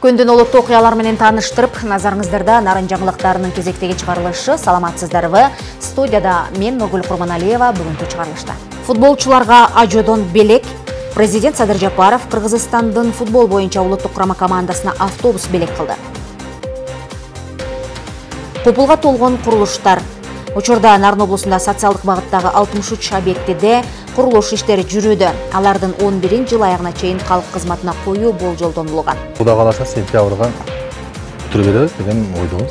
Күндүн олуттуу окуялар менен тааныштырып, назарыңыздарда нарын жаңылыктарынын кезектеги чыгарылышы. Саламатсыздарбы? Студияда мен Нургүл Курманалиева бүгүнкү чыгарылышта. Футболчуларга ажоодон белек. Президент Садыр Жапаров Кыргызстандын футбол боюнча улуттук курама командасына автобус белек кылды. Купулга толгон курулуштар. Учурда Нарын облусунда социалдык багыттагы 63 объектиде курулуш иштери жүрүүдө. Алардын 11 жыл аягына чейин калк кызматына коюу болжолдонулган. Кудай кааласа сентябрга бүтүрүп беребиз деген ойдобуз.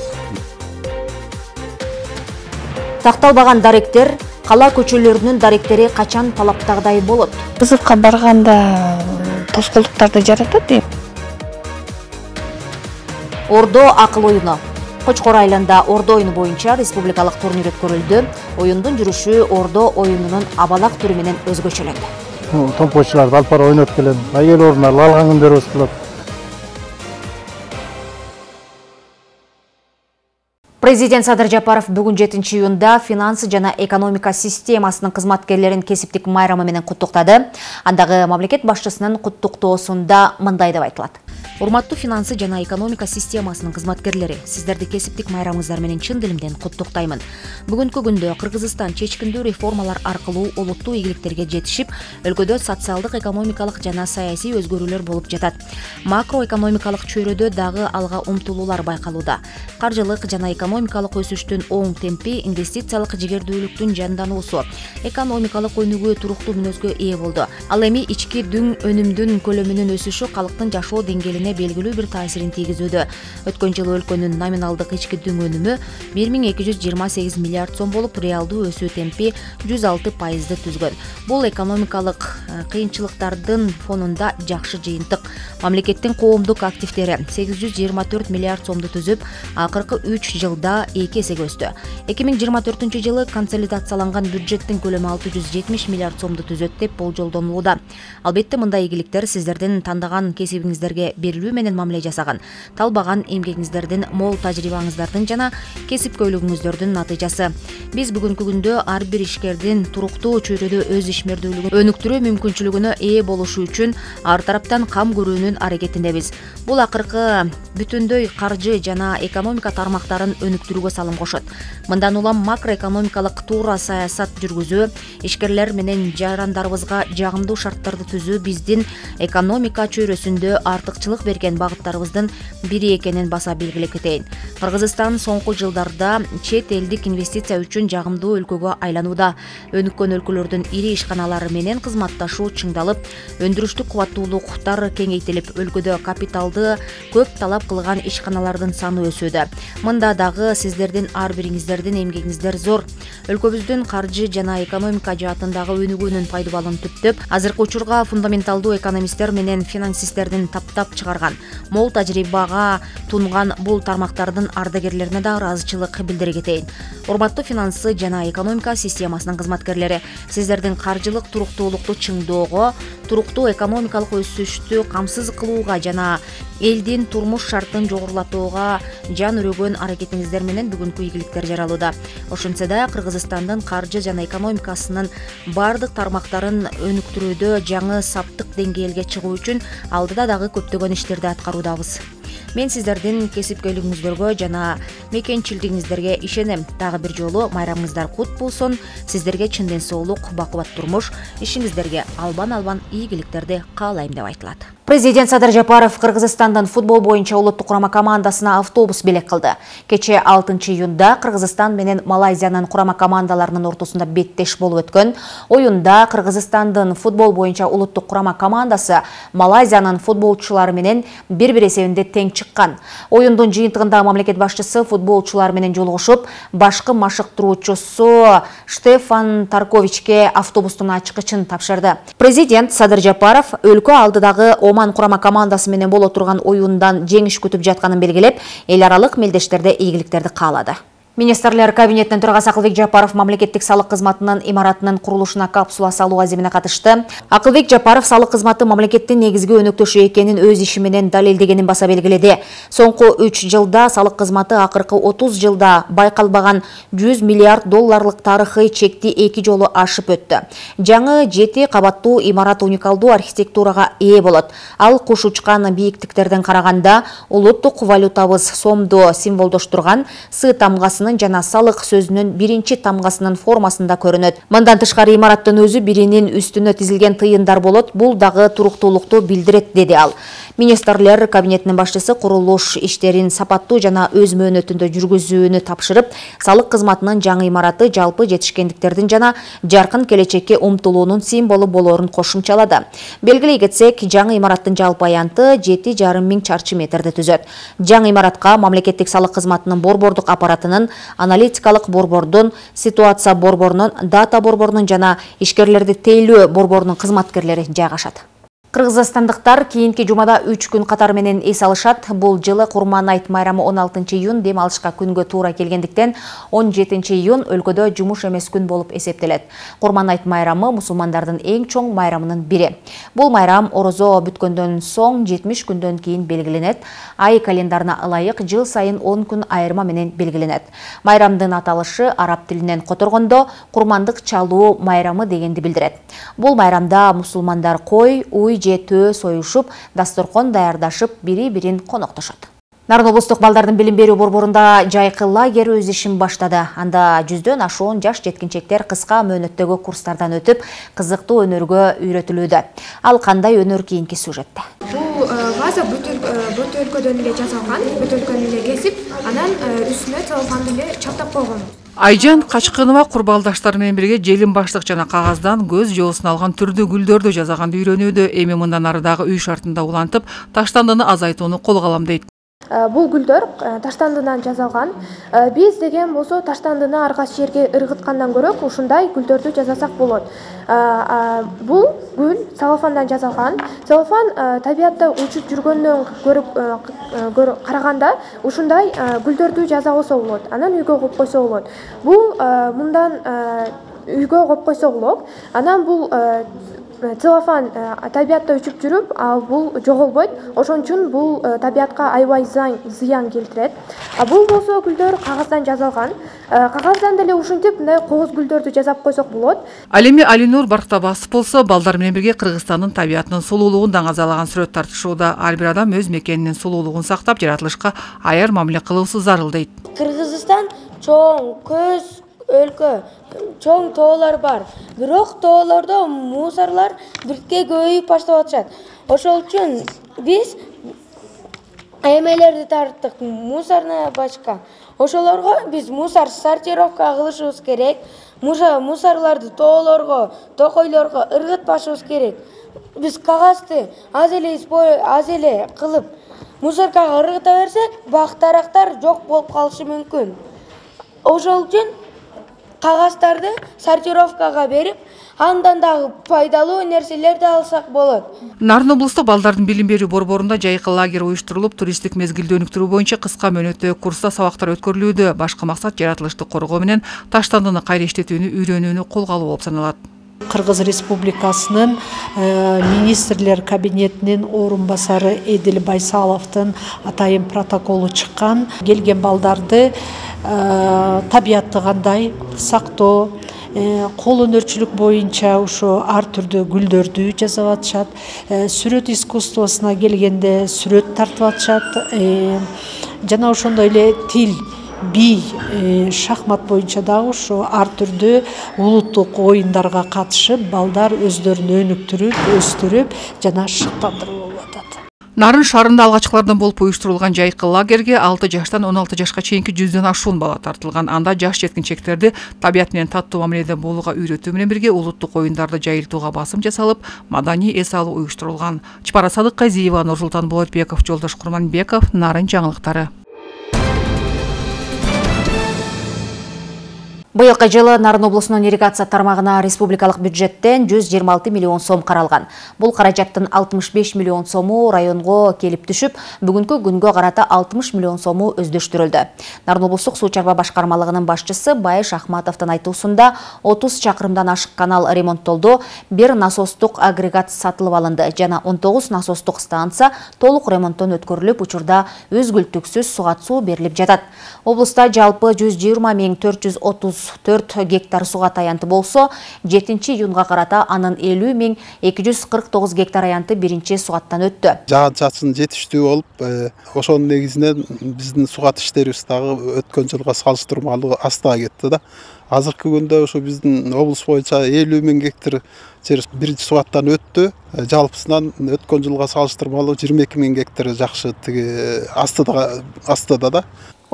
Такталбаган даректер, кала көчөлөрүнүн даректери качан талаптагыдай болот? Кызыкка барганда тоскоолдуктарды жаратат дейм. Ордо акыл оюну. Кочкор айылында ордо оюну боюнча республикалык турнир өткөрүлдү. Оюндун жүрүшү ордо оюнунун абалак түрү менен өзгөчөлөндү. Томпочуларды алып бара ойноп келем. Айыл орундарга алган күндөрүбүз болот. Президент Садыр Жапаров бүгүн 7 июнда финансы жана экономика системасынын кызматкерлерин кесиптик майрамы менен куттуктады. Андагы мамлекет башчысынын куттуктоосунда мындай деп айтылат. Урматтуу финансы жана экономика системасынын кызматкерлери, сиздерди кесиптик майрамыңыздар менен чын дилимден куттуктаймын. Бүгүнкү күндө Кыргызстан чечкиндүү реформалар аркылуу олуттуу ийгиликтерге жетишип, өлкөдө социалдык, экономикалык жана саясий өзгөрүүлөр болуп жатат. Макроэкономикалык чөйрөдө дагы алга умтулуулар байкалууда. Каржылык жана экономикалык өсүштүн оң темпи, инвестициялык жигердүүлүктүн жандануусу, экономикалык өнүгүү туруктуу мүнөзгө ээ болду. Ал эми ички дүң өнүмдүн көлөмүнүн өсүшү калктын жашоо деңгээлине белгилүү бир таасирин тийгизүүдө. Өткөн жылы өлкөнүн номиналдык ички дүң өнүмү 1228 миллиард сом болуп, реалдуу өсүү темпи 106% түзгөн. Бул экономикалык кыйынчылыктардын фонунда жакшы жыйынтык. Мамлекеттин коомдук активдери 824 миллиард сомду түзүп, акыркы 3 жылда 2 эсеге өстү. 2024 жылы консолидацияланган бюджеттин көлөмү 670 миллиард сомду түзөт деп болжолдонулууда. Албетте мындай ийгиликтер сиздердин тандаган кесибиңиздерге берилүү менен мамиле жасаган, талбаган эмгегиңиздердин, мол тажрыйбаңыздардын жана кесипкөйлүгүңүздөрдүн натыйжасы. Биз бүгүнкү күндө ар бир ишкердин туруктуу чөйрөдө өз ишмердүүлүгүн өнүктүрүү мүмкүнчүлүгүнө ээ болушу үчүн ар тараптан кам көрүүнүн аракетиндебиз. Бул акыркы бүтүндөй каржы жана экономика тармактарын өнүктүрүүгө салым кошот. Мындан улам макроэкономикалык туура саясат жүргүзүү, ишкерлер менен жарандарыбызга жагымдуу шарттарды түзүү биздин экономика чөйрөсүндө артыкчылык берген багыттарыбыздын бири экенин баса белгилеп кетейин. Кыргызстан соңку жылдарда чет элдик инвестиция үчүн жагымдуу өлкөгө айланууда. Өнүккөн өлкөлөрдүн ири ишканалары менен кызматташуу чыңдалып, өндүрүштүк кубаттуулуктар кеңейтилип, өлкөдө капиталды көп талап кылган ишканалардын саны өсүүдө. Мында дагы сиздердин ар бириңиздердин эмгегиңиздер зор. Өлкөбүздүн каржы жана экономика жаатындагы өнүгүүнүн пайдубалын түптөп, азыркы учурга фундаменталдуу экономисттер менен финансисттердин таптап чыгарган, мол тажрыйбага тунган бул тармактардын ардагерлерине да ыраазычылык билдире кетейин. Урматтуу финансы жана экономика системасынын кызматкерлери, сиздердин каржылык туруктуулукту чыңдоого, туруктуу экономикалык өсүштү камсыз кылууга жана элдин турмуш шартын жогорулатууга жан өрөгөн аракетиңиздер менен бүгүнкү ийгиликтер жаралууда. Ошентсе да Кыргызстандын каржы жана экономикасынын бардык тармактарын өнүктүрүүдө жаңы саптык деңгээлге чыгуу үчүн алдыда дагы көптөгөн иштерди аткаруудабыз. Мен сиздердин кесипкөйлүгүңүздөргө жана мекенчилдигиңиздерге ишенем. Дагы бир жолу майрамыңыздар кут болсун. Сиздерге чын ден соолук, бакубат турмуш, ишиңиздерге албан ийгиликтерди каалайм деп айтылат. Президент Садыр Жапаров Кыргызстандын футбол боюнча улуттук курама командасына автобус белек кылды. Кече 6 июнда Кыргызстан менен Малайзиянын курама командаларынын ортосунда беттеш болуп өткөн оюнда Кыргызстандын футбол боюнча улуттук курама командасы Малайзиянын футболчулары менен бир-бир эсебинде тең чыккан. Оюндун жыйынтыгында мамлекет башчысы футболчулар менен жолугушуп, башкы машыктыруучусу Штефан Тарковичке автобустун ачкычын тапшырды. Президент Садыр Жапаров өлкө алдыдагы Оман курама командасы менен боло турган оюндан жеңиш күтүп жатканын белгилеп, эл аралык мелдештерде ийгиликтерди каалады. Министрлер кабинетинин төрагасы Акылбек Жапаров мамлекеттик салык кызматынын имаратынын курулушуна капсула салуу аземине катышты. Акылбек Жапаров салык кызматы мамлекеттин негизги өнөктөшү экенин өз иши менен далилдегенин баса белгиледи. Соңку 3 жылда салык кызматы акыркы 30 жылда байкалбаган 100 миллиард долларлык тарыхый чекти 2 жолу ашып өттү. Жаңы 7 кабаттуу имарат уникалдуу архитектурага ээ болот. Ал куш учкан бийиктиктерден караганда улуттук валютабыз сомду символдоштурган С тамгасы жана салык сөзүнүн биринчи тамгасынын формасында көрүнөт. Мындан тышкары имараттын өзү биринин үстүнө тизилген тыйындар болот. Бул дагы туруктуулукту билдирет, деди ал. Министрлер кабинетинин башчысы курулуш иштерин сапаттуу жана өз мөөнөтүндө жүргүзүүнү тапшырып, салык кызматынын жаңы имараты жалпы жетишкендиктердин жана жаркын келечекке умтулуунун символу болоорун кошумчалады. Белгилей кетсек, жаңы имараттын жалпы аянты 7,5 миң чарчы метрди түзөт. Жаңы имаратка мамлекеттик салык кызматынын борбордук аппаратынын, аналитикалык борбордун, ситуация борборунун, дата борборунун жана ишкерлерди тейлөө борборунун кызматкерлери жайгашат. Кыргызстандыктар кийинки жумада 3 күн катары менен эс алышат. Бул жылы Курман айт майрамы 16 июнь дем алышка күнгө туура келгендиктен 17 июнь өлкөдө жумуш эмес күн болуп эсептелет. Курман айт майрамы мусулмандардын эң чоң майрамынын бири. Бул майрам орозо бүткөндөн соң 70 күндөн кийин белгиленет. Ай календарына ылайык жыл сайын 10 күн айырма менен белгиленет. Майрамдын аталышы араб тилинен которгондо курмандык чалуу майрамы дегенди билдирет. Бул майрамда мусулмандар кой, уй же төө союшуп, дасторкон даярдашып, бири-бирин коноктошот. Нарын облустук балдардын билим берүү борборунда жайкы лагерь өз ишин баштады. Анда 100дөн ашуун жаш жеткинчектер кыска мөөнөттөгү курстардан өтүп, кызыктуу өнөргө үйрөтүлүүдө. Ал кандай өнөр кийинки сюжетте. Бул ваза бөтөлкөдөн эле жасалган, бөтөлкөнү эле кесип, анан үстүнө целлофанды эле чаптап койгон. Айжан Качкынова курбалдаштары менен бирге желим баштык жана кагаздан көз жоосун алган түрдүү гүлдөрдү жасаганды үйрөнүүдө. Эми мындан ары дагы үй шартында улантып, таштандыны азайтууну колго алам дейт. Бул гүлдөр таштандыдан жасалган. Биз деген болсо таштандыны аргас жерге ыргыткандан көрө ушундай гүлдөрдү жасасак болот. Бул гүл целлофандан жасалган. Целлофан табиятта учуп жүргөндөн көрүп караганда ушундай гүлдөрдү жаса болсо болот. Анан үйгө коюп койсо болот. Бул мындан үйгө коюп койсо болот. Анан бул целлофан табиятта учуп жүрүп, бул жоголбойт. Ошон үчүн бул табиятка аябай зыян келтирет. Бул болсо гүлдөр кагаздан жасалган. Кагаздан деле ушинтип мындай кооз гүлдөрдү жасап койсок болот. Ал эми Алинур Барктабасов болсо балдар менен бирге Кыргызстандын табиятынын сулуулугун даңазалаган сүрөт тартышууда. Ар бир адам өз мекенинин сулуулугун сактап, жаратылышка аяр мамиле кылуусу зарыл дейт. Кыргызстан чоң, көз өлкө, чоң тоолор бар. Бирок тоолордо мусорлар бирке көбөйүп баштап атышат. Ошол үчүн биз эмелерди тарттык, мусорная бачка. Ошолорго биз мусор сортировка кылышыбыз керек. Мусорларды тоолорго, токойлорго ыргытпашыбыз керек. Биз кагазды аз эле кылып мусоркага ыргыта берсек, бак-дарактар жок болуп калышы мүмкүн. Ошол үчүн кагаздарды сортировкага берип, андан дагы пайдалуу нерселерди алсак болот. Нарын облустук балдардын билим берүү борборунда жайкы лагерь уюштурулуп, туристтик мезгилди өнүктүрүү боюнча кыска мөөнөттөгү курста сабактар өткөрүлүүдө. Башкы максат жаратылышты коргоо менен таштандыны кайра иштетүүнү үйрөнүүнү колго алуу болуп саналат. Кыргыз Республикасынын министрлер кабинетинин орун басары Эдил Байсаловдун атайын протоколу чыккан. Келген балдарды табиятты кандай сактоо, кол өнөрчүлүк боюнча ошо ар түрдүү гүлдөрдү жасап атышат. Сүрөт искусствосуна келгенде сүрөт тартып атышат. Жана ошондой эле тил, би, шахмат боюнча дагы ошо ар түрдүү улуттук оюндарга катышып, балдар өздөрүн өнүктүрүп, өстүрүп жана шыктандырып болуп атат. Нарын шаарында алгачкылардан болуп уюштурулган жайкы лагерге 6 жаштан 16 жашка чейинки 100дөн ашуун бала тартылган. Анда жаш жеткинчектерди табият менен таттуу мамиледе болууга үйрөтүү менен бирге улуттук оюндарды жайылтууга басым жасалып, маданий эс алуу уюштурулган. Чапара Садыкказиева, Нурсултан Болотбеков, Жолдош Курманбеков, Нарын жаңылыктары. Быйылкы жылы Нарын облусунун ирригация тармагына республикалык бюджеттен 126 миллион сом каралган. Бул каражаттын 65 миллион сому районго келип түшүп, бүгүнкү күнгө карата 60 миллион сому өздөштүрүлдү. Нарын облустук суу чарба башкармалыгынын башчысы Байыш Ахматовдун айтуусунда 30 чакырымдан ашык канал ремонттолду, 1 насостук агрегат сатылып алынды жана 19 насостук станция толук ремонттон өткөрүлүп, учурда үзгүлтүксүз суга суу берилип жатат. Облуста жалпы 120 434 гектар суга таянты болсо, 7-июнга карата анын 50 249 гектар аянты биринчи сугаттан өттү. Жаан-чачын жетиштүү болуп, ошонун негизинен биздин сугат иштерибиз дагы өткөн жылга салыштырмалуу астага кетти да. Азыркы күндө ошо биздин облус боюнча 50 000 гектар жер биринчи сугаттан өттү. Жалпысынан өткөн жылга салыштырмалуу 22 000 гектар жакшы астыда да.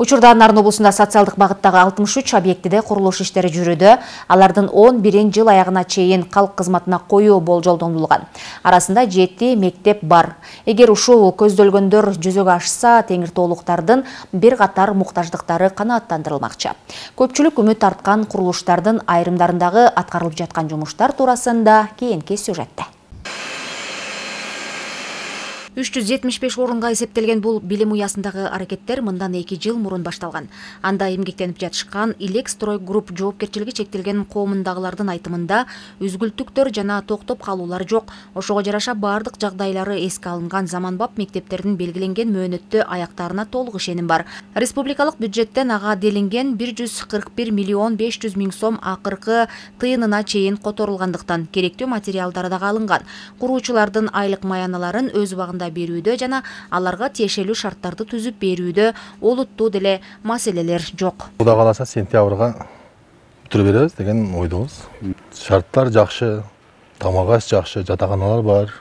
Учурда Нарын облусунда социалдык багыттагы 63 объектиде курулуш иштери жүрүүдө. Алардын 11-ин жыл аягына чейин калк кызматына коюу болжолдонулган. Арасында 7 мектеп бар. Эгер ушул көздөлгөндөр жүзөгө ашса, Теңиртоолуктардын бир катар муктаждыктары канааттандырылмакчы. Көпчүлүк үмүт арткан курулуштардын айрымдарындагы аткарылып жаткан жумуштар туурасында кийинки сюжетте. 375 орунга эсептелген бул билим уясындагы аракеттер мындан 2 жыл мурун башталган. Анда эмгектенип жатышкан Илек Строй групп жоопкерчилиги чектелген коомундагылардын айтымында үзгүлтүктөр жана токтоп калуулар жок. Ошого жараша бардык жагдайлары эске алынган, заманбап мектептердин белгиленген мөөнөттө аяктарына толук ишеним бар. Республикалык бюджеттен ага делинген 141 миллион 500 миң сом акыркы тыйынына чейин которулгандыктан керектүү материалдары дагы алынган. Куруучулардын айлык маяналарын өз убагында берүүдө жана аларга тиешелүү шарттарды түзүп берүүдө олуттуу деле маселелер жок. Кудай кааласа сентябрга бүтүрүп беребиз деген ойдобуз. Шарттар жакшы, тамак аш жакшы, жатаканалар бар,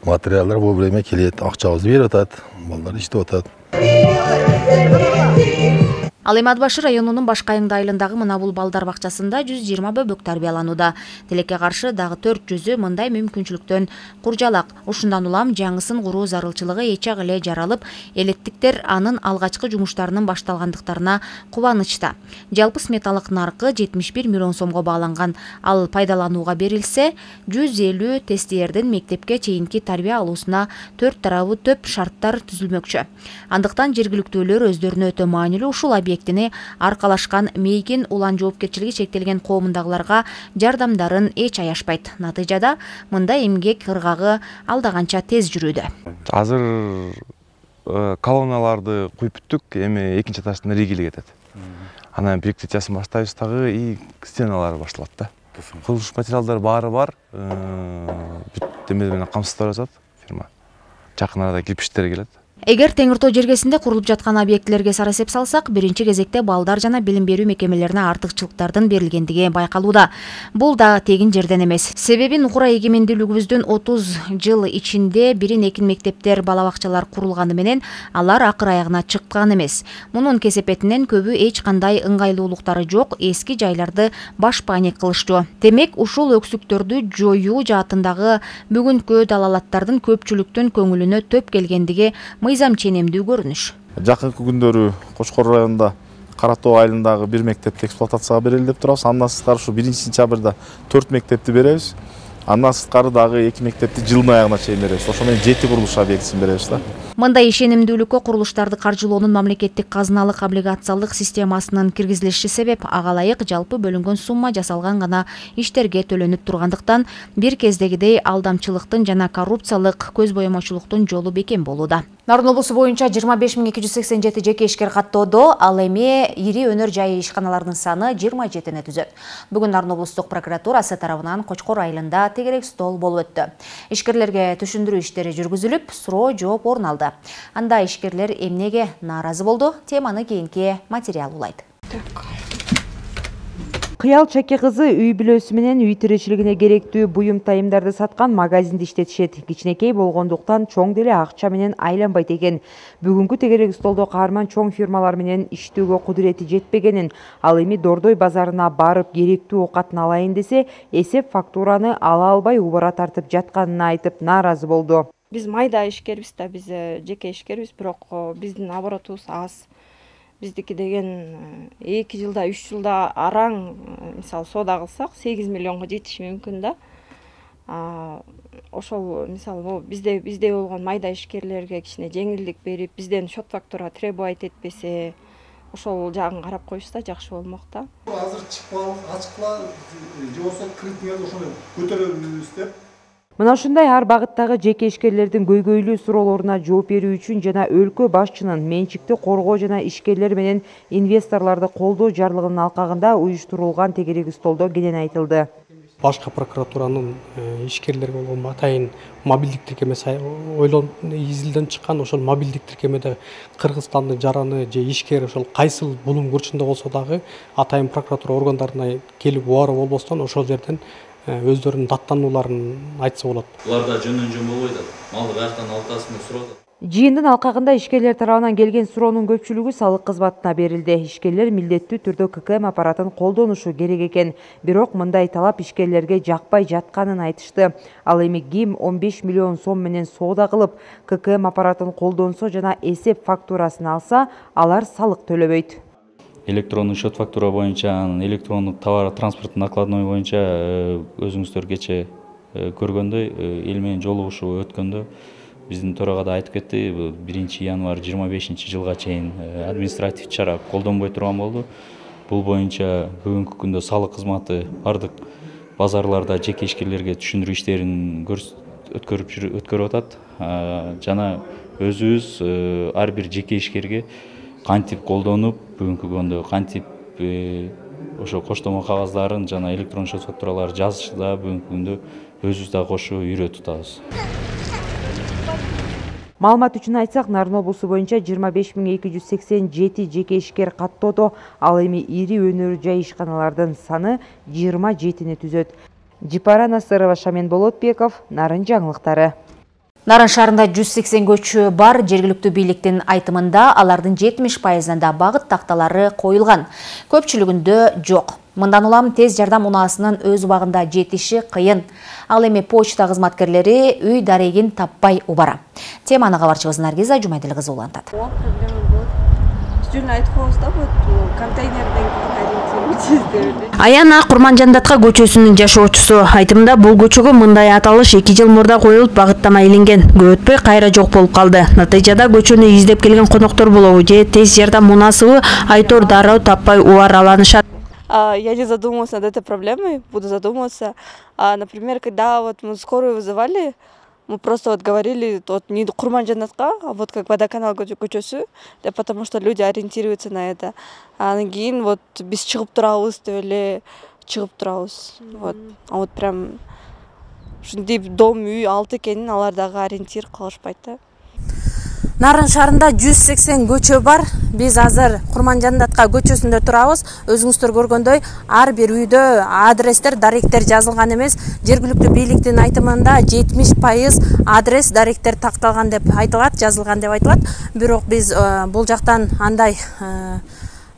материалдар бул время келет, акчабызды берип атат, балдар иштеп атат. Ал эми Ат Башы районунун башка айылындагы мына бул балдар бакчасында 120 бөбөк тарбияланууда. Тилекке каршы дагы 400-ү мындай мүмкүнчүлүктөн куржалак. Ушундан улам жаңысын куруу зарылчылыгы эчак эле жаралып, элеттиктер анын алгачкы жумуштарынын башталгандыктарына кубанычта. Жалпы сметалык наркы 71 миллион сомго бааланган. Ал пайдаланууга берилсе, 150 тестиердин мектепке чейинки тарбия алуусуна 4 тарабы төп шарттар түзүлмөкчү. Андыктан жергиликтүүлөр өздөрүнө өтө маанилүү ушул объектини аркалашкан Мейгин улан жоопкерчилиги чектелген коомундагыларга жардамдарын эч аяшпайт. Натыйжада мындай эмгек ыргагы алдаганча тез жүрүүдө. Азыр колонналарды куюп бүттүк, эми экинчи этаждан ригели кетет. Анан перекрытиясын баштайбыз дагы и стеналары башталат да. Курулуш материалдары баары бар. Бүт эме менен камсыздап жатат фирма. Жакын арада кирпичтер келет. Эгер Теңиртоо жергесинде курулуп жаткан объектилерге сара эсеп салсак, биринчи кезекте балдар жана билим берүү мекемелерине артыкчылыктардын берилгендиги байкалууда. Бул да тегин жерден эмес. Себеби нукура эгемендүүлүгүбүздүн 30 жыл ичинде бирин-экин мектептер, бала бакчалар курулганы менен алар акыр аягына чыккан эмес. Мунун кесепетинен көбү эч кандай ыңгайлуулуктары жок, эски жайларды башпаанек кылыштуу. Демек, ушул өксүктөрдү жоюу жаатындагы бүгүнкү далалаттардын көпчүлүктүн көңүлүнө төп келгендиги мыйзам ченемдүү көрүнүш. Жакынкы күндөрү Кочкор районунда Кара Тоо айылындагы бир мектепти эксплуатацияга берели деп турабыз. Андан сырткары ушу 1-сентябрда 4 мектепти беребиз. Андан сырткары дагы 2 мектепти жылдын аягына чейин беребиз. Ошо менен 7 курулуш объектисин беребиз да. Мындай ишенимдүүлүккө курулуштарды каржылоонун мамлекеттик казыналык облигациялык системасынын киргизилиши себеп. Ага ылайык жалпы бөлүнгөн сумма жасалган гана иштерге төлөнүп тургандыктан бир кездегидей алдамчылыктын жана коррупциялык көз боемочулуктун жолу бекем болууда. Нарын облусу боюнча 25 287 жеке ишкер каттоодо, ал эми ири өнөр жайы ишканаларынын саны 27-ни түзөт. Бүгүн Нарын облустук прокуратурасы тарабынан Кочкор айылында тегерек стол болуп өттү. Ишкерлерге түшүндүрүү иштери жүргүзүлүп, суроо жооп орун алды. Анда ишкерлер эмнеге нааразы болду? Теманы кийинки материал улайт. Кыял Чаке кызы үй бүлөсү менен үй тиричилигине керектүү буюм тайымдарды саткан магазинди иштетишет. Кичинекей болгондуктан чоң деле акча менен айланбайт экен. Бүгүнкү тегерек столдо каарман чоң фирмалар менен иштөөгө кудурети жетпегенин, ал эми Дордой базарына барып керектүү оокатын алайын десе, эсеп фактураны ала албай убара тартып жатканын айтып нааразы болду. Биз майда ишкербиз да, биз жеке ишкербиз, бирок биздин оборотубуз аз. Биздики деген 2 жылда 3 жылда араң мисалы соода кылсак 8 миллионго жетиши мүмкүн да. Ошол мисалы бизде болгон майда ишкерлерге кичине жеңилдик берип, бизден счет фактура требовать этпесе, ошол жагын карап коюшса жакшы болмок да. Азыр ачыкла же болсо кредиттерди ошондой көтөрөбүз деп. Мына ушундай ар багыттагы жеке ишкерлердин көйгөйлүү суроолоруна жооп берүү үчүн жана өлкө башчынын менчикти коргоо жана ишкерлер менен инвесторлорду колдоо жарлыгынын алкагында уюштурулган тегерек столдо кенен айтылды. Башкы прокуратуранын ишкерлерге болгон атайын мобилдик тиркемеси изилден чыккан. Ошол мобилдик тиркемеде Кыргызстандын жараны же ишкер ошол кайсыл булум бурчунда болсо дагы атайын прокуратура органдарына келип убаруу болбостон ошол жерден өздөрүнүн даттанууларын айтса болот. Буларда жөн болбойт атат. Малды каяктан алтасын деп сурап атат. Жыйындын алкагында ишкерлер тарабынан келген суроонун көпчүлүгү салык кызматына берилди. Ишкерлер милдеттүү түрдө ККМ аппаратын колдонушу керек экен. Бирок мындай талап ишкерлерге жакпай жатканын айтышты. Ал эми ким 15 миллион сом менен соода кылып, ККМ аппаратын колдонсо жана эсеп фактурасын алса, алар салык төлөбөйт. Электрондук счет фактура боюнча, электрондук товар транспорт накладной боюнча өзүңүздөр кече көргөндөй эл менен жолугушуу өткөндө биздин төрага да айтып кетти, 1 январь 25-жылга чейин административ чара колдонбой турган болду. Бул боюнча бүгүнкү күндө салык кызматы бардык базарларда жеке ишкерлерге түшүндүрүү иштерин өткөрүп атат. Жана өзүбүз ар бир жеке ишкерге кантип колдонуп, бүгүнкү күндө кантип ошо коштомо кагаздарын жана электрон счет фактураларды жазышда бүгүнкү күндө өзүбүз да кошо үйрөтүп атабыз. Маалымат үчүн айтсак, Нарын облусу боюнча 25287 жеке ишкер каттоодо, ал эми ири өнөр жай ишканалардын саны 27-ни түзөт. Жипара Насырова, Шамен Болотбеков, Нарын жаңылыктары. Нарын шаарында 180 көчө бар. Жергиликтүү бийликтин айтымында алардын 70%-ында багыт такталары коюлган. Көпчүлүгүндө жок. Мындан улам тез жардам унаасынын өз убагында жетиши кыйын. Ал эми почта кызматкерлери үй дарегин таппай убара. Теманы кабарчыбыз Наргиза Жумайдыл кызы улантат. Аяна Курманжандатка көчөсүнүн жашоочусу. Айтымда бул көчөгө мындай аталыш 2 жыл мурда коюлуп багыттама иленген. Көп өтпөй кайра жок болуп калды. Натыйжада көчөнү издеп келген коноктор болобу же тез жардам унасыбы айтор дароо таппай убараланышат. Я не задумывалась над этой проблемой, буду задумываться. Например, когда вот мы скорую вызывали, мы просто вот говорили вот не Курманжандатка, а вот как водоканал көчөсү, потому что люди ориентируются на это. Анан кийин вот биз чыгып турабыз деп эле чыгып турабыз. Вот. А вот прям ушундай дом үй алты экенин алар дагы ориентир кылышпайт да. Нарын шаарында 180 көчө бар. Биз азыр Курманжандатка көчөсүндө турабыз. Өзүңүздөр көргөндөй, ар бир үйдө адрестер, даректер жазылган эмес. Жергиликтүү бийликтин айтымында 70% адрес, даректер такталган деп айтылат, жазылган деп айтылат. Бирок биз бул жактан андай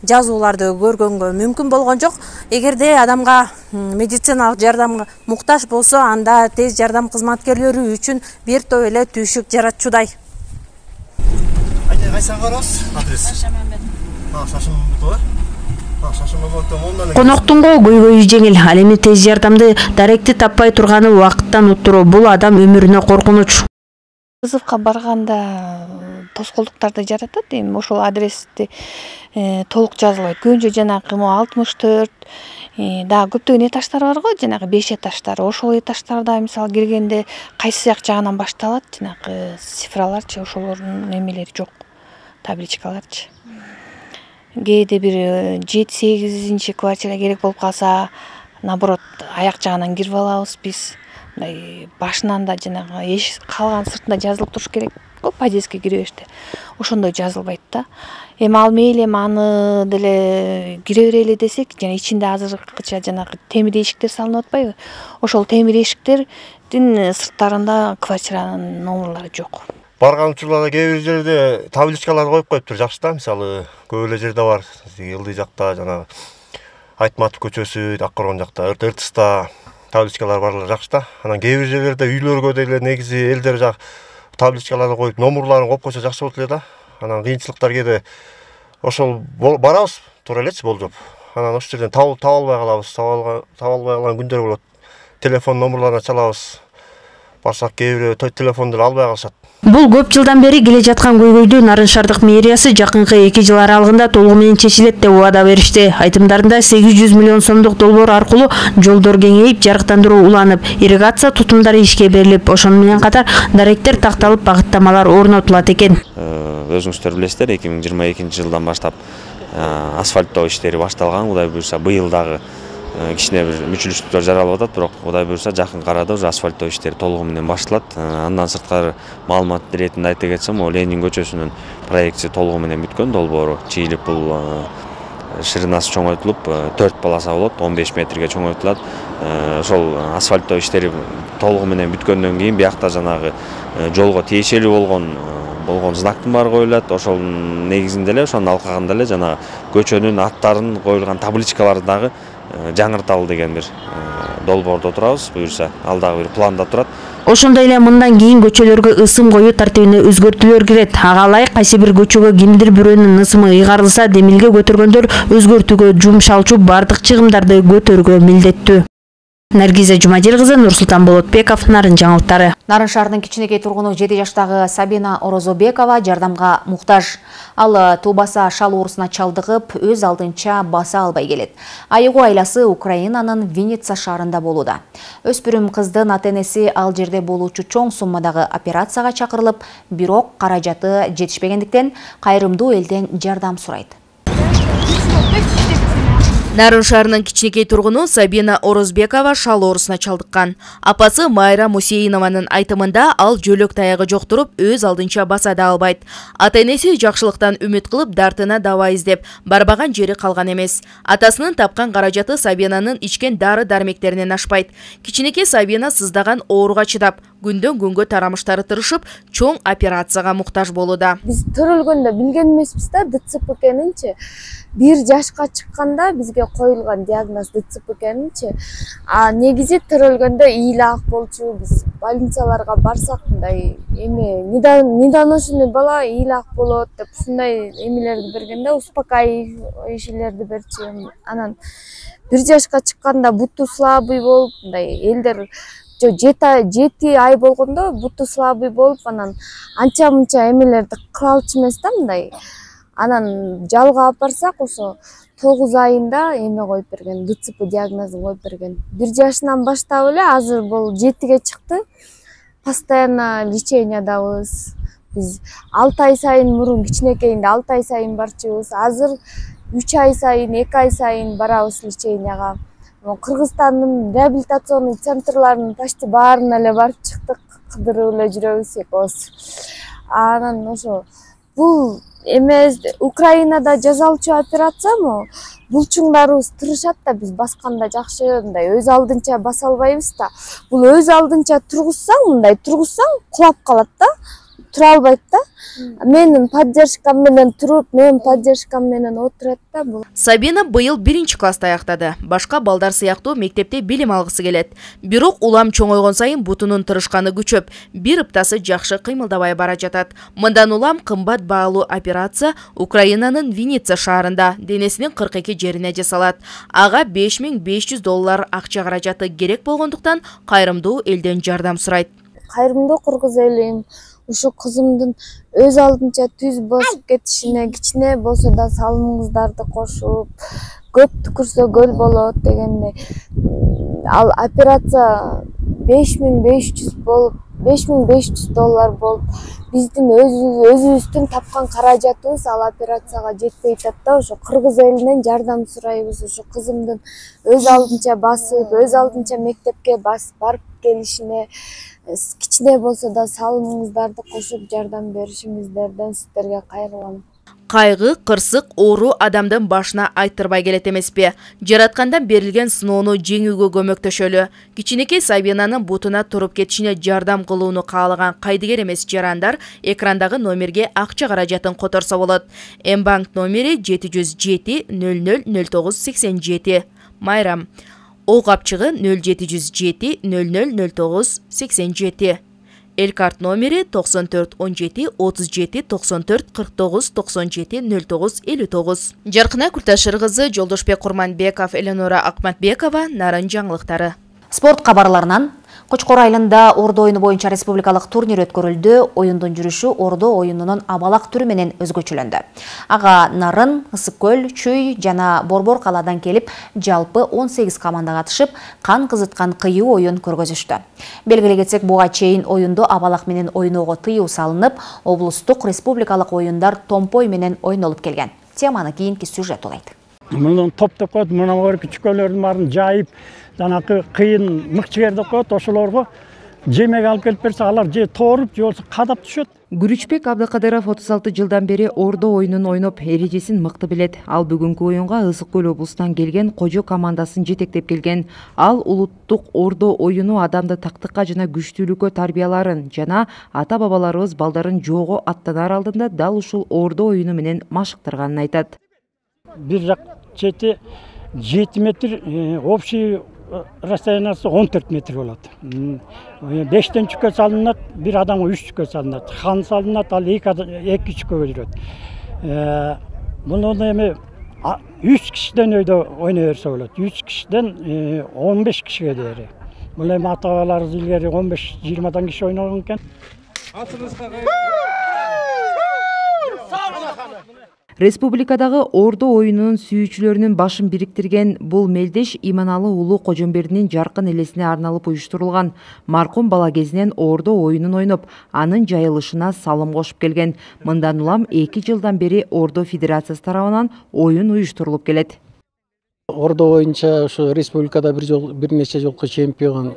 жазууларды көргөнгө мүмкүн болгон жок. Эгерде адамга медициналык жардамга муктаж болсо, анда тез жардам кызматкерлери үчүн бир топ эле түйшүк жаратчудай. Кайсы барабыз? Адрес. Коноктун көйгөйү жеңил. Ал эми тез жардамды даректи таппай турганы убакыттан уттуруу. Бул адам өмүрүнө коркунуч. Вызовка барганда тоскоолдуктарды жаратат, эми ошол адрести толук жазылбайт. Көбүнчө жанагы 64 да көптөгөн этаждар бар го, жанагы 5 этаждар. Ошол этаждарда мисалы киргенде кайсы жагынан башталат, жанагы цифраларчы, ошолордун эмелери жок. Табличкаларчы. Кээде бир 7-8 квартира керек болуп калса, наоборот, аяк жагынан кирип алабыз биз. Мындай башынан да жанагы калган сыртында жазылып туруш керек го, подъездге киребеште. Ошондой жазылбайт да. Эми ал мейли аны деле кире берели десек, жана ичинде азыркыча жанагы темир эшиктер салынып атпайбы? Ошол темир эшиктердин сырттарында квартиранын номерлори жок. Барган учурларда кээ бир жерде табличкаларды коюп коюптур, жакшы да. Мисалы, көп эле жерде бар. Ылдый жакта жана Айтматов көчөсү, Аккорон жакта, Ыртыста табличкалар барлар жакшы да. Анан кээ бир жерлерде үйлөргө деле негизи элдер жак табличкаларды коюп, номерларын коюп койсо жакшы болот эле да. Анан кыйынчылыктар кээде ошол барабыз туура элечи болжоп. Анан ошол жерден таба албай калабыз, таба албай калган күндөр болот. Телефон номерларына чалабыз. Барсак кээ бирөө телефонду албай калышат. Бул көп жылдан бери келе жаткан көйгөйдү Нарын шаардык мэриясы жакынкы 2 жыл аралыгында толугу менен чечилет деп убада беришти. Айтымдарында 800 миллион сомдук долбоор аркылуу жолдор кеңейип, жарыктандыруу уланып, ирригация тутумдары ишке берилип, ошону менен катар даректер такталып, багыттамалар орнотулат экен. Өзүңүздөр билесиздер, 2022 жылдан баштап асфальттоо иштери башталган. Кудай буюрса быйыл дагы кичине бир мүчүлүштүктөр жаралып атат, бирок Кудай буюрса жакынкы арада уже асфальттоо иштери толугу менен башталат. Андан сырткары маалымат иретинде айта кетсем, Ленин көчөсүнүн проекти толугу менен бүткөн, долбоору чийилип, бул ширинасы чоңойтулуп 4 полоса болот, 15 метрге чоңойтулат. Ошол асфальттоо иштери толугу менен бүткөндөн кийин биякта жанагы жолго тиешелүү болгон знактын баары коюлат. Ошол негизинде эле, ошонун алкагында эле жана көчөнүн аттарын коюлган табличкаларды дагы жаңырталы деген бир долбоордо турабыз. Буюрса ал дагы бир планда турат. Ошондой эле мындан кийин көчөлөргө ысым коюу тартибине өзгөртүүлөр кирет. Ага ылайык кайсы бир көчөгө кимдир бирөөнүн ысымы ыйгарылса, демилге көтөргөндөр өзгөртүүгө жумшалчу бардык чыгымдарды көтөрүүгө милдеттүү. Наргиза Жумадил кызы, Нурсултан Болотбеков, Нарын жаңылыктары. Нарын шаарынын кичинекей тургуну 7 жаштагы Сабина Орозобекова жардамга муктаж. Ал туубасы шал оорусуна чалдыгып, өз алдынча баса албай келет. Айыгуу айласы Украинанын Винница шаарында болууда. Өспүрүм кыздын ата-энеси ал жерде болуучу чоң суммадагы операцияга чакырылып, бирок каражаты жетишпегендиктен кайрымдуу элден жардам сурайт. Нарын шаарынын кичинекей тургуну Сабина Орозбекова шал оорусуна чалдыккан. Апасы Майра Мусейинованын айтымында ал жөлөк таягы жоктуруп, өз алдынча баса да албайт. Ата-энеси жакшылыктан үмүт кылып, дартына дава издеп, барбаган жери калган эмес. Атасынын тапкан каражаты Сабинанын ичкен дары-дармектеринен ашпайт. Кичинекей Сабина сыздаган ооруга чыдап, күндөн күнгө тарамыштары тырышып, чоң операцияга муктаж болууда. Биз төрөлгөндө билген эмеспиз да ДЦП экенинчи. 1 жашка чыкканда бизге коюлган диагноз ДЦП экенинчи. Негизи төрөлгөндө ыйлак болчу, биз больницаларга барсак мындай эме недоношенный бала ыйлак болот деп ушундай эмелерди бергенде, успокаивающийлерди берчү. Анан 1 жашка чыкканда буту слабый болуп, мындай элдер 7 ай болгондо буту слабый болуп, анан анча-мынча эмелерди кыла алчу эмес да мындай. Анан жалга алып барсак, ошо 9 айында эме коюп берген, ДЦП диагнозун коюп берген. 1 жашынан баштап эле азыр бул 7ге чыкты. Постоянно лечениядабыз. Биз 6 ай сайын мурун кичинекейинде 6 ай сайын барчубуз. Азыр 3 ай сайын, 2 ай сайын барабыз леченияга. Кыргызстандын реабилитационный центрларынын почти баарына эле барып чыктык, кыдырып эле жүрөбүз экөөбүз. Анан ошо бул эмес Украинада жасалчу операциямы? Булчуңдарыбыз тырышат да, биз басканда жакшы, мындай өз алдынча баса албайбыз да. Бул өз алдынча тургузсаң, мындай тургузсаң кулап калат да, тура албайт да. Менин поддержкам менен туруп, менин поддержкам менен отурат да бул. Сабина быйыл 1-класста аяктады. Башка балдар сыяктуу мектепте билим алгысы келет. Бирок улам чоңойгон сайын бутунун тырышканы күчөп, бир ыптасы жакшы кыймылдабай бара жатат. Мындан улам кымбат баалуу операция Украинанын Винница шаарында денесинин 42 жерине жасалат. Ага $5500 акча каражаты керек болгондуктан кайрымдуу элден жардам сурайт. Кайрымдуу кыргыз элим ушу кызымдын өз алдынча түз басып кетишине кичине болсо да салымыңыздарды кошуп, көп түкүрсө көл болот дегенде, ал операция $5500 болуп, $5500 болуп, биздин өзүбүздүн тапкан каражатыбыз ал операцияга жетпей атат да. Ошо кыргыз элинен жардам сурайбыз, ошо кызымдын өз алдынча басып, өз алдынча мектепке барып келишине кичине болсо да салымыңыздарды кошуп жардам беришиңиздерден сиздерге кайрылам. Кайгы, кырсык, оору адамдын башына айттырбай келет эмеспи? Жараткандан берилген сыноону жеңүүгө көмөктөшөлү. Кичинекей Сабинанын бутуна туруп кетишине жардам кылууну каалаган кайдыгер эмес жарандар экрандагы номерге акча каражатын которсо болот. Мбанк номери 707 00 09 87. Майрам. О капчыгы 0707 00 09 87. Эл карт номери 94 17 37 94 49 97 09 59. Жаркына Күлташыр кызы, Жолдошбек Курманбеков, Эленора Акматбекова, Нарын жаңылыктары. Спорт кабарларынан Кочкор айылында ордо оюну боюнча республикалык турнир өткөрүлдү. Оюндун жүрүшү ордо оюнунун абалак түрү менен өзгөчөлөндү. Ага Нарын, Ысык көл, Чүй жана Борбор калаадан келип, жалпы 18 команда катышып, кан кызыткан кыюу оюн көргөзүштү. Белгилей кетсек, буга чейин оюнду абалак менен ойноого тыюу салынып, облустук республикалык оюндар томпой менен ойнолуп келген. Теманы кийинки сюжет улайт. Мунун топтоп коет, мына күчкөлөрдүн баарын жайып, жанакы кыйын мыкчыгерди коет, ошолорго жемек алып келип берсе, алар же тооруп, же болбосо кадап түшөт. Күрүчбек Абдыкадыров 36 жылдан бери ордо оюнун ойноп, эрежесин мыкты билет. Ал бүгүнкү оюнга Ысык көл облусунан келген Кожо командасын жетектеп келген. Ал улуттук ордо оюну адамды тактыкка жана күчтүүлүккө тарбияларын жана ата-бабаларыбыз балдарын жоого аттанар алдында дал ушул ордо оюну менен машыктырганын айтат. Бир жак чети 7 метр, общий расстояниясы 14 метр болот. 5тен чүккө салынат, бир адамга 3 чүккө салынат. Хан салынат, ал 2 чүккөгө жүрөт. Муну эми 3 кишиден өйдө ойной берсе болот. 3 кишиден 15 кишиге дейери. Бул эми ата-бабаларыбыз илгери 15-20 киши ойногон экен. Республикадагы ордо оюнунун сүйүүчүлөрүнүн башын бириктирген бул мелдеш Иманалы уулу Кожомбердинин жаркын элесине арналып уюштурулган. Маркум бала кезинен ордо оюнун ойноп, анын жайылышына салым кошуп келген. Мындан улам 2 жылдан бери Ордо Федерациясы тарабынан оюн уюштурулуп келет. Ордо боюнча ушу республикада бир нече жолку чемпион.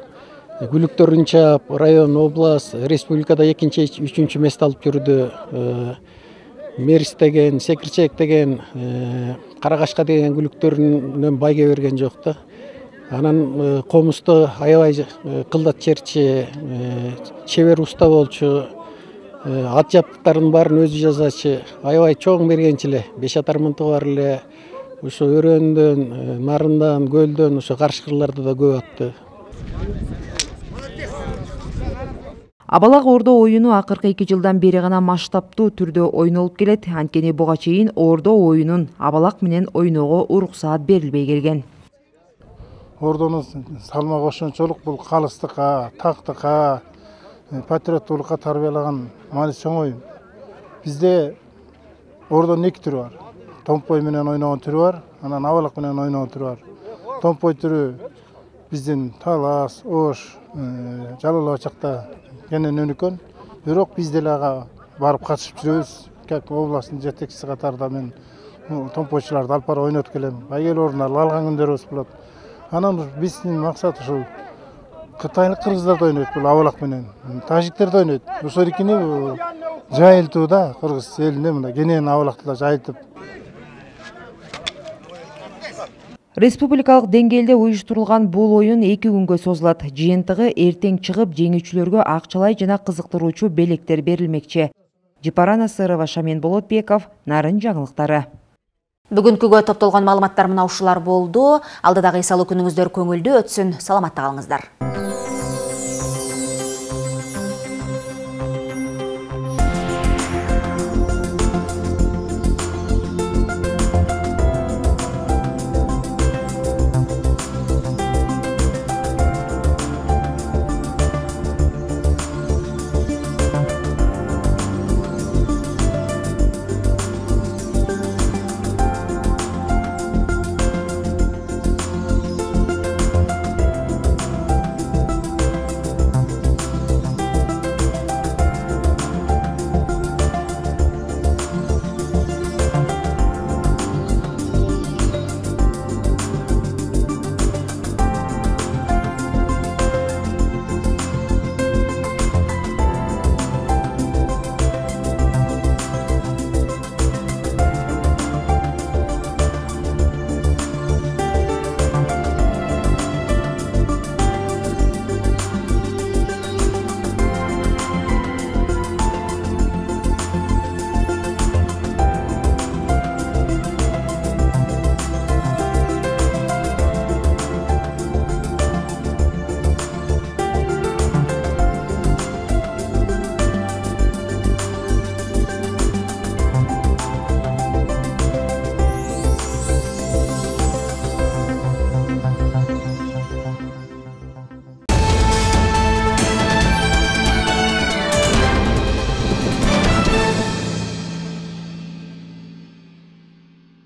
Гүлүктөрүнча район, область, республикада 2-3 мест алып жүрдү. Мерис деген, Секирчек деген, Карагашка деген гүлүктөрүнөн байге берген жок да. Анан комузду аябай кылдат черчи, чебер уста болчу, ат жабдыктардын баарын өзү жасачы, аябай чоң бергенчи эле. 5 атар мынтыгы бар эле. Ушу өрөөндөн, нарындан, көлдөн, ушу каршы кырларда да көп атты. Абалак ордо оюну акыркы 2 жылдан бери гана масштабтуу түрдө ойнолуп келет. Анткени буга чейин ордо оюнун абалак менен ойноого уруксаат берилбей келген. Ордонун салма кошумчулук бул калыстыкка, тактыкка, патриоттуулукка тарбиялаган маани чоң оюн. Бизде ордонун 2 түрү бар. Томпой менен ойногон түрү бар, анан абалак менен ойногон түрү бар. Томпой түрү биздин Талас, Ош, Жалал Абачакта кенен өнүккөн. Бирок биз деле ага барып катышып жүрөбүз. Как областтын жетекчиси катарында мен томпойчуларды алып барып ойнотуп келем. Байгел орундар алган күндөрүбүз болот. Анан биздин максат ушул кытайлык кыргыздар да ойнойт бул абалак менен. Тажиктер да ойнойт. Ошол экини жайылтуу да кыргыз элине мына кенен абалакты да жайылтып. Республикалык деңгээлде уюштурулган бул оюн 2 күнгө созулат. Жыйынтыгы эртең чыгып, жеңүүчүлөргө акчалай жана кызыктыруучу белектер берилмекчи. Жипара Насырова, Шамен Болотбеков, Нарын жаңылыктары. Бүгүнкүгө топтолгон маалыматтар мына ушулар болду. Алдыдагы эс алуу күнүңүздөр көңүлдүү өтсүн. Саламатта калыңыздар.